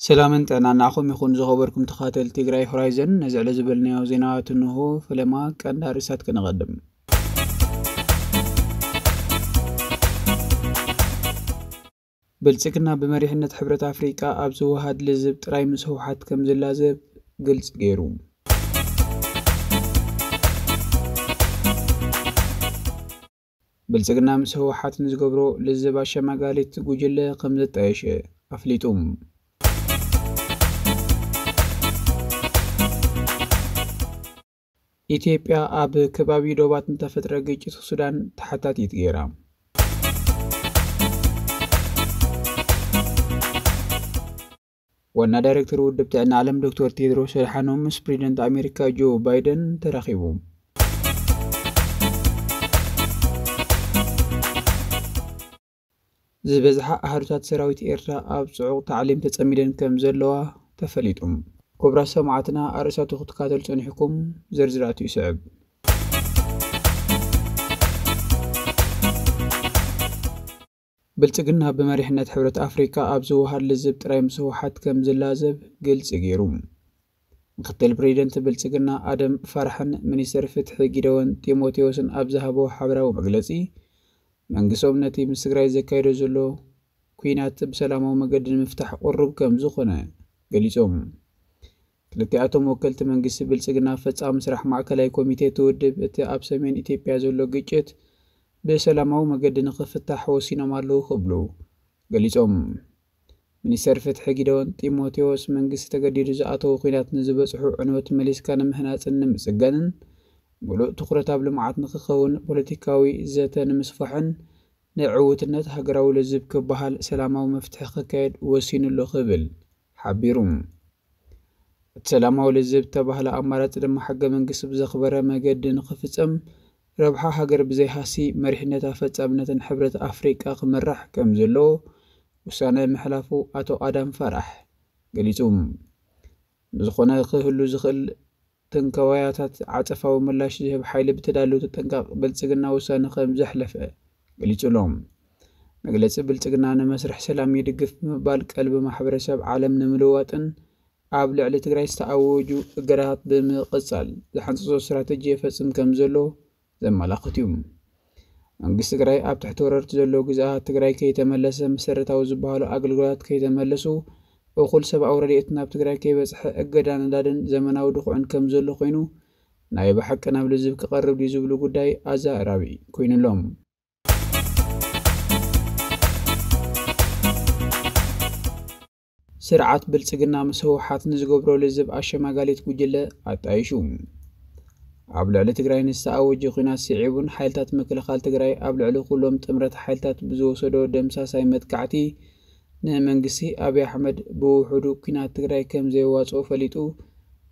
ሰላምን ጥዕናን ንዓኹም ይኹን ዝኸበርኩም ተኸታተልቲ ትግራይ ሆራይዘን። ነዚ ዕለት ዝበልናዮ ዜናታት እንሆ። ፈለማ ቀንዲ ኣርእስታት ከነቐድም። ብልጽግና ብመሪሕነት ሕብረት ኣፍሪቃ ኣብ ዝወሃድ ልዝብ ጥራይ ምስ ህወሓት ከም ዝላዘብ ግልጽ ገይሩ። ብልጽግና ምስ ህወሓት ንዝገብሮ ልዝብ ኣሸማጋሊት ጉጅለ ከም ዘጣየሸ ኣፍሊጡ። ኢትዮጵያ ኣብ ከባቢ ዶባት ንተፈጥረ ግጭት ሱዳን ተሓታቲት ገይራ። ዋና ዳይሬክተር ውድብ ጥዕና ዓለም ዶክተር ቴድሮስ ኣድሓኖም ምስ ፕሬዚደንት ኣሜሪካ ጆ ባይደን ተራኺቡ። ዝበዝሓ ኣሃዱታት ሰራዊት ኤርትራ ኣብ ጽዑቕ ታዕሊም ተጸሚደን ከም ዘለዋ ተፈሊጡ። ክቡራት ሰማዕትና፣ ኣርእስታቱ ክትከታተሉ ጸኒሕኩም፣ ዝርዝራቱ ይስዕብ። ብልጽግና ብመሪሕነት ሕብረት ኣፍሪካ ኣብ ዝወሃድ ልዝብ ጥራይ ምስ ህወሓት ከም ዝላዘብ ግልጺ ገይሩ። ምክትል ፕሬዚደንት ብልጽግና ኣደም ፋራሕን ሚኒስትር ፍትሒ ጊደዎን ጢሞቴዎስን ኣብ ዝሃቦ ሓበራዊ መግለጺ፣ መንግስቶም ነቲ ምስ ትግራይ ዘካይዶ ዘሎ ኲናት ብሰላማዊ መገዲ ንምፍታሕ ቅሩብ ከም ዝኾነ ገሊጾም። ክልቲኣቶም ወከልቲ መንግስቲ ብልጽግና ፈጻሚ ስራሕ ማእከላይ ኮሚቴ እቲ ውድብ እቲ ኣብ ሰሜን ኢትዮጵያ ዘሎ ግጭት ብሰላማዊ መገዲ ንኽፍታሕ ወሲኖም ኣለዉ ክብሉ ገሊጾም። ሚኒስተር ፍትሒ ጊደዎን ጢሞቴዎስ መንግስቲ ተገዲዱ ዝኣተዎ ኲናት ንዝበጽሑ ዕንወት መሊስካ ንምህናጽን ንምጽጋንን ምሉእ ትኹረት ኣብ ልምዓት ንኽኸውን ፖለቲካዊ ዘተ ንምስፋሕን ንዕውትነት ሃገራዊ ልዝብ ክበሃል ሰላማዊ መፍትሒ ክካየድ ወሲኑ ኣሎ ክብል ሓቢሩ። እቲ ሰላማዊ ልዝብ ዝተባህለ ኣማራጺ ድማ ሕገ መንግስቲ ብዘኽበረ መገዲ ንኽፍጸም፣ ረብሓ ሃገር ብዘይሃሲ፣ መሪሕነት ኣፈጻምነትን ሕብረት ኣፍሪቃ ክምራሕ ከም ዘለዎ ውሳነ ምሕላፉ ኣቶ ኣዳም ፋራሕ ገሊጹ። ብዝኾነ ክህሉ ዝኽእል ትንከዋያታት ዓጸፋዊ ምላሽ ዝህብ ሓይሊ ብተዳለወ ተጠንቃቕ ብልጽግና ውሳነ ከም ዘሕለፈ ገሊጹ ኣሎ። መግለጺ ብልጽግና ንመስርሕ ሰላም ይድግፍ ብምባል ቀልቢ ማሕበረሰብ ዓለም ንምልዋጥን ኣብ ልዕሊ ትግራይ ዝተኣወጁ እገዳታት ብምቕጻል ዝሓንጸጾ ስትራተጂ የፈጽም ከም ዘሎ ዘመላኽት እዩ። መንግስቲ ትግራይ ኣብ ትሕቲ ወረርቲ ዘለዉ ግዝኣት ትግራይ ከይተመለሰ፣ መሰረታዊ ዝበሃሉ ኣገልግሎታት ከይተመለሱ፣ እኹል ሰብኣዊ ረድኤት ናብ ትግራይ ከይበጽሐ እገዳ ነዳድን ዘመናዊ ድኹዕን ከም ዘሎ ኮይኑ፣ ናይ ብሓቂ ናብ ልዝብ ክቐርብ ድዩ ዝብሉ ጉዳይ ኣዘራራቢ ኮይኑ ኣሎ። ስርዓት ብልጽግና ምስ ህወሓት ንዝገብሮ ልዝብ ኣሸማጋሊት ጉጅለ ኣጣይሹ። ኣብ ልዕሊ ትግራይ ንዝተኣወጀ ኲናት ስዒቡን ሓይልታት ምክልኻል ትግራይ ኣብ ልዕሊ ኩሎም ጥምረት ሓይልታት ብዝወሰዶ ደምሳሳይ መጥቃዕቲ ንመንግስቲ ኣብይ ኣሕመድ ብውሑዱ ኲናት ትግራይ ከም ዘየዋጽኦ ፈሊጡ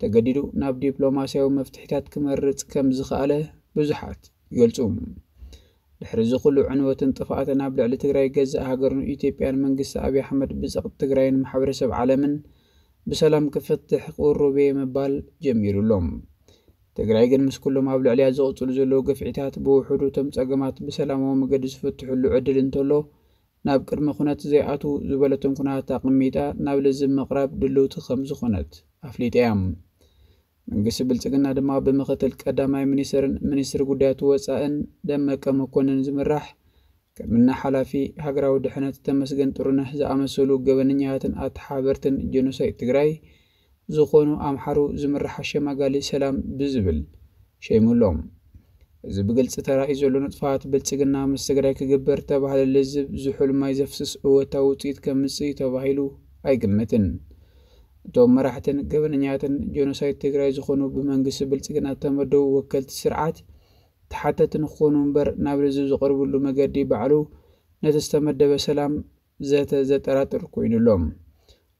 ተገዲዱ ናብ ዲፕሎማስያዊ መፍትሒታት ክመርጽ ከም ዝኸኣለ ብዙሓት ይገልጹ። ድሕሪ እዚ ኩሉ ዕንወትን ጥፍኣትን ኣብ ልዕሊ ትግራይ ገዛእ ሃገርን ኢትዮጵያን መንግስቲ ኣብይ ኣሕመድ ብጸቕጢ ትግራይን ማሕበረሰብ ዓለምን ብሰላም ክፈትሕ ቅሩብ እየ ምባል ጀሚሩ ኣሎ። ትግራይ ግን ምስ ኩሎም ኣብ ልዕሊያ ዝቕጽሉ ዘለዉ ግፍዒታት ብውሑዱ እቶም ጸገማት ብሰላማዊ መገዲ ዝፍትሕሉ ዕድል እንተሎ ናብ ቅድመ ኩነት ዘይኣትዉ ዝበለቶም ኩነታት ኣቐሚጣ ናብ ልዝብ ምቕራብ ድልውቲ ከም ዝኾነት ኣፍሊጣ እያ። መንግስቲ ብልጽግና ድማ ብምክትል ቀዳማይ ሚኒስትርን ሚኒስትር ጉዳያት ወጻእን ደመቀ መኮንን ዝምራሕ ከምኒ ሓላፊ ሃገራዊ ድሕነት ተመስገን ጥሩነህ ዝኣመሰሉ ገበነኛታትን ኣተሓበርትን ጀኖሳይድ ትግራይ ዝኾኑ ኣምሓሩ ዝምራሕ ኣሸማጋሊ ሰላም ብዝብል ሸይሙ ኣሎ። እዚ ብግልፂ ተራእዩ ዘሎ ንጥፋት ብልፅግና ምስ ትግራይ ክግበር ተባህለ ልዝብ ዝሑል ማይ ዘፍስስ እወታዊ ውፅኢት ከምፅእ እዩ ተባሂሉ ኣይግመትን። እቶም መራሕትን ገበነኛትን ጀኖሳይድ ትግራይ ዝኾኑ ብመንግስቲ ብልፅግና እተመደቡ ወከልቲ ስርዓት ተሓተቲ ንክኾኑ እምበር ናብ ልዝብ ዝቐርብሉ መገዲ ባዕሉ ነቲ ዝተመደበ ሰላም ዘተ ዘጠራጥር ኮይኑ ኣሎ።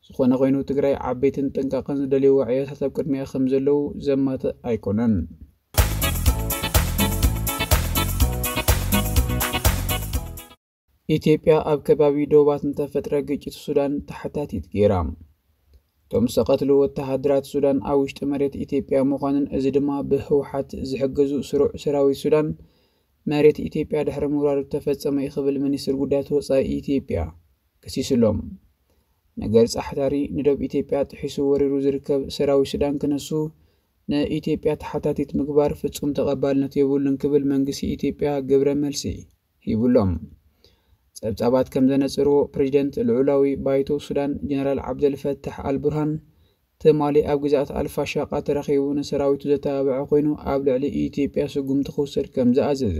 ዝኾነ ኮይኑ ትግራይ ዓበይትን ጥንቃቐን ዝደልይዎ ዕዮታት ኣብ ቅድሚኣ ከም ዘለዉ ዘማትእ ኣይኮነን። ኢትዮጵያ ኣብ ከባቢ ዶባት ንተፈጥረ ግጭት ሱዳን ተሓታቲት ገይራ። እቶም ዝተቐትሉ ወተሃደራት ሱዳን ኣብ ውሽጢ መሬት ኢትዮጵያ ምዃንን እዚ ድማ ብህወሓት ዝሕገዙ ስሩዕ ሰራዊት ሱዳን መሬት ኢትዮጵያ ድሕሪ ምውራሩ ዝተፈጸመ እዩ ክብል ሚኒስትር ጉዳያት ወጻኢ ኢትዮጵያ ከሲሱ ኣሎ። ነገር ጻሕታሪ ንደብ ኢትዮጵያ ጥሒሱ ወሪሩ ዝርከብ ሰራዊት ሱዳን ክነሱ ንኢትዮጵያ ተሓታቲት ምግባር ፍጹም ተቐባልነት የብሉን ክብል መንግስቲ ኢትዮጵያ ግብረ መልሲ ሂቡሎም። ጸብጻባት ከም ዘነጽርዎ፣ ፕሬዚደንት ልዑላዊ ባይቶ ሱዳን ጀነራል ዓብደልፈታሕ ኣልቡርሃን ትማሊ ኣብ ግዛኣት ኣልፋሻቃ ተረኺቡ ንሰራዊቱ ዘተባብዐ ኮይኑ፣ ኣብ ልዕሊ ኢትዮጵያ ስጉምቲ ክውሰድ ከም ዝኣዘዘ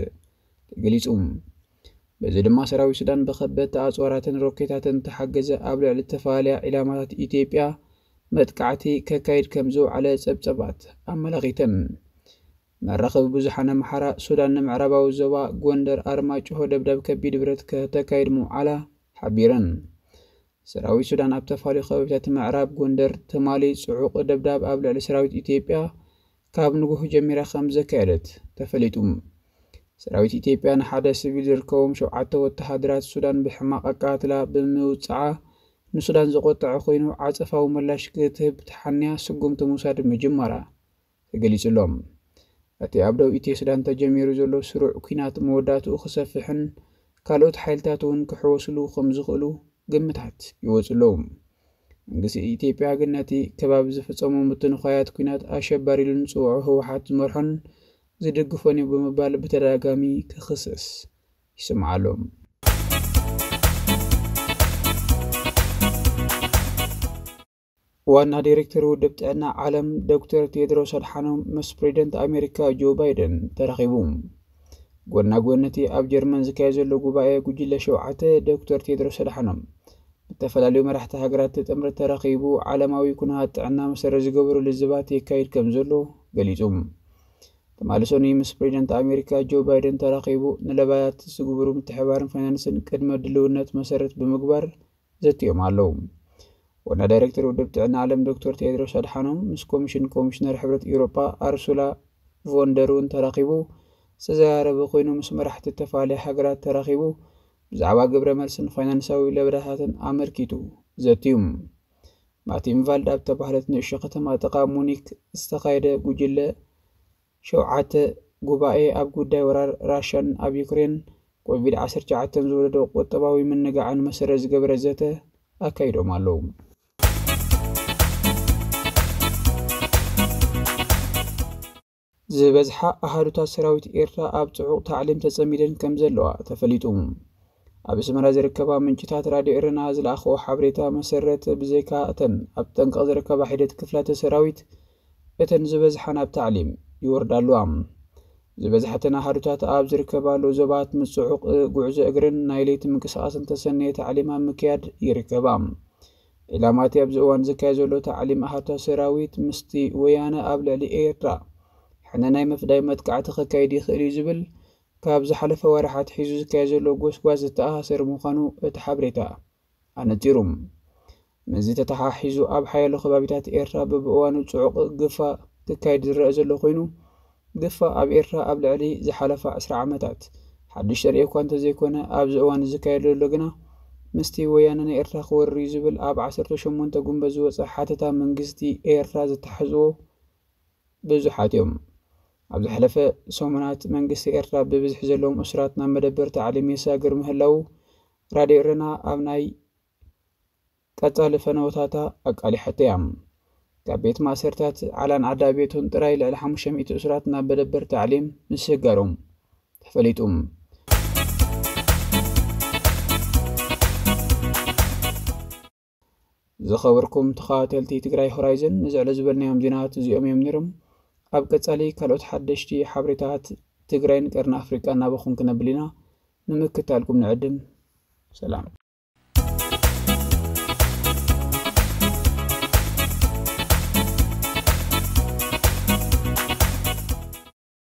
ተገሊጹ። በዚ ድማ ሰራዊት ሱዳን ብኸበድቲ ኣጽዋራትን ሮኬታትን ተሓገዘ ኣብ ልዕሊ ዝተፈላለያ ዒላማታት ኢትዮጵያ መጥቃዕቲ ከካይድ ከም ዝውዓለ ጸብጸባት ኣመላኺተን። መራኸቢ ብዙሓን ኣምሓራ፣ ሱዳን ንምዕራባዊ ዞባ ጎንደር ኣርማጭሆ ደብዳብ ከቢድ ብረት ከተካይድ ምውዓላ ሓቢረን። ሰራዊት ሱዳን ኣብ ተፋልዩ ከባቢታት ምዕራብ ጎንደር ትማሊ ጽዑቕ ደብዳብ ኣብ ልዕሊ ሰራዊት ኢትዮጵያ ካብ ንጉህ ጀሚራ ከም ዘካየደት ተፈሊጡ። ሰራዊት ኢትዮጵያ ንሓደ ሲቪል ዝርከቦም ሸውዓተ ወተሃደራት ሱዳን ብሕማቕ ኣቃትላ ብምውጽዓ፣ ንሱዳን ዘቆጠዐ ኮይኑ፣ ዓጸፋዊ ምላሽ ክትህብ ተሓንያ ስጉምቲ ምውሳድ ምጅማራ ተገሊጹ ኣሎ። እቲ ኣብ ደቡብ ኢትዮ ሱዳን ተጀሚሩ ዘሎ ስሩዕ ኲናት መወዳእትኡ ክሰፍሕን ካልኦት ሓይልታት እውን ክሕወስሉ ከም ዝኽእሉ ግምታት ይወጹ ኣለዉ። መንግስቲ ኢትዮጵያ ግን ነቲ ከባቢ ዝፍጸሙ ምትንዃያት ኲናት ኣሸባሪ ኢሉ ንጽውዖ ህወሓት ዝመርሖን ዝድግፎን እዩ ብምባል ብተደጋጋሚ ክኽሰስ ይስማዕ ኣሎ። ዋና ዳይሬክተር ውድብ ጥዕና ዓለም ዶክተር ቴድሮስ ኣድሓኖም ምስ ፕሬዚደንት ኣሜሪካ ጆ ባይደን ተራኺቡ። ጎና ጎኒ እቲ ኣብ ጀርመን ዝካየድ ዘሎ ጉባኤ ጉጅለ ሸውዓተ፣ ዶክተር ቴድሮስ ኣድሓኖም ዝተፈላለዩ መራሕቲ ሃገራት ጥምረት ተራኺቡ ዓለማዊ ኩነታት ጥዕና መሰረት ዝገበሩ ልዝባት የካይድ ከም ዘሎ ገሊጹ። ትማሊ ሰኑይ ምስ ፕሬዚደንት ኣሜሪካ ጆ ባይደን ተራኺቡ ንለባያት ዝግብሩ ምትሕባርን ፋይናንስን ቅድመ ድልውነት መሰረት ብምግባር ዘትዮም ኣለዉ። ዋና ዳይሬክተር ውድብ ጥዕና ዓለም ዶክተር ቴድሮስ ኣድሓኖም ምስ ኮሚሽን ኮሚሽነር ሕብረት ኤውሮጳ ኣርሱላ ቮንደር እውን ተራኺቡ ዝተዘራረበ ኮይኑ፣ ምስ መራሕቲ ተፈላለያ ሃገራት ተራኺቡ ብዛዕባ ግብረ መልስን ፋይናንሳዊ ለበዳታትን ኣመልኪቱ ዘትዩ። ማቲንቫልድ ኣብ ተባህለት ንእሽቶ ከተማ ጥቓ ሙኒክ ዝተኻየደ ጉጅለ ሸውዓተ ጉባኤ ኣብ ጉዳይ ወራር ራሽያን ኣብ ዩክሬን ኮቪድ ዓሰርተ ትሽዓተ ዝወለዶ ቁጠባዊ ምንጋዕን መሰረት ዝገበረ ዘተ ኣካይዶም ኣለዉ። ዝበዝሓ ኣሃዱታት ሰራዊት ኤርትራ ኣብ ጽዑቕ ታዕሊም ተጸሚደን ከም ዘለዋ ተፈሊጡ። ኣብ ኣስመራ ዝርከባ ምንጭታት ራድዮ ኤረና ዝለኣኽዎ ሓበሬታ መሰረት፣ ብዘይካ እተን ኣብ ጠንቀቕ ዝርከባ ሒደት ክፍላተ ሰራዊት፣ እተን ዝበዝሓ ናብ ታዕሊም ይወርዳ ኣለዋ። ዝበዝሐተን ኣሃዱታት ኣብ ዝርከባሉ ዞባት ምስ ጽዑቕ ጉዕዞ እግርን ናይ ለይቲ ምንቅስቓስን ተሰነየ ታዕሊም ኣብ ምክያድ ይርከባ። ዒላማቲ ኣብዚ እዋን ዝካየድ ዘሎ ታዕሊም ኣሃዱታት ሰራዊት ምስቲ ወያነ ኣብ ልዕሊ ኤርትራ ሕነ ናይ ምፍዳይ መጥቃዕቲ ከካይድ ይኽእል እዩ ዝብል ካብ ዝሓለፈ ወርሓት ሒዙ ዝካየድ ዘሎ ጎስጓስ ዝተኣሳሰር ምዃኑ እቲ ሓበሬታ ኣነጺሩ። ምስዚ ተተሓሒዙ ኣብ ሓያሎ ከባቢታት ኤርትራ በብእዋኑ ጽዑቕ ግፋ ክካየድ ዝረአ ዘሎ ኮይኑ፣ ግፋ ኣብ ኤርትራ ኣብ ልዕሊ ዝሓለፋ ዕስራ ዓመታት ሓድሽ ተርእዮ እኳ እንተዘይኮነ፣ ኣብዚ እዋን ዝካየድ ዘሎ ግና ምስቲ ወያነ ንኤርትራ ክወርር እዩ ዝብል ኣብ ዓሰርተ ሸሞንተ ጉንበት ዝወጸ ሓተታ መንግስቲ ኤርትራ ዘተሓሕዝዎ ብዙሓት እዮም። ኣብ ዝሓለፈ ሰሙናት መንግስቲ ኤርትራ ብብዝሒ ዘለዎም እሱራት ናብ መደበር ታዕሊም የሳግር ምህላዉ ራድዮ ኤረና ኣብ ናይ ቀጻሊ ፈነወታታ ኣቃሊሓቶ እያ። ካብ ቤት ማእሰርታት ዓላን ዓዳ ቤቱን ጥራይ ልዕሊ ሓሙሽተ ሚእቲ እሱራት ናብ መደበር ታዕሊም ምስጋሮም ተፈሊጡ። ዝኸበርኩም ተኸታተልቲ ትግራይ ሆራይዘን፣ ንዝዕለ ዝበልናዮም ዜናታት እዚኦም እዮም ነይሮም። ኣብ ቀጻሊ ካልኦት ሓደሽቲ ሓበሬታት ትግራይን ቀርኒ ኣፍሪቃን ናባኹም ክነብል ኢና። ንምክታልኩም ንዕድም። ሰላም።